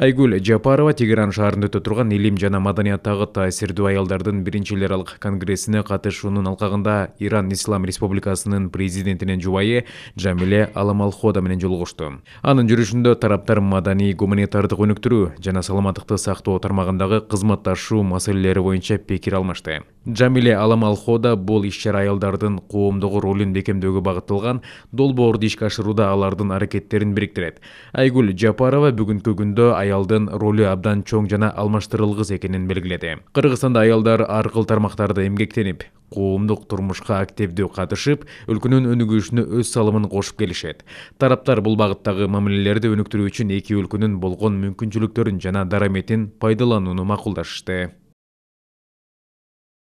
Айгүл Жапарова Тегеран шаарында өтө турган илим жана маданияттагы таасирдүү аялдардын биринчи эл аралык конгрессине катышуунун алкагында Иран Ислам Республикасынын президентинин жубайы Джамиле Аламалхода менен жолугушту. Анын жүрүшүндө тараптар маданий, гуманитардык өнүктүрүү жана саламаттыкты сактоо тармагындагы кызматташуу маселелери боюнча пикир алмашты. Джамиле Аламалхода бул иш-чара аялдардын коомдогу ролун бекемдөөгө багытталган долбоорду ишке ашырууда алардын аракеттерин бириктирет. Айгүл Жапарова бүгүнкү күндө аялдын ролу абдан чоң жана алмаштырылгыс экенин белгиледи. Кыргызстанда аялдар ар кыл тармактарда эмгектенип, коомдук турмушка активдүү катышып, өлкөнүн өнүгүшүнө өз салымын кошуп келишет. Тараптар бул багыттагы мамилелерди өнүктүрүү үчүн эки өлкөнүн болгон мүмкүнчүлүктөрүн жана дараметин пайдаланууну макулдашты.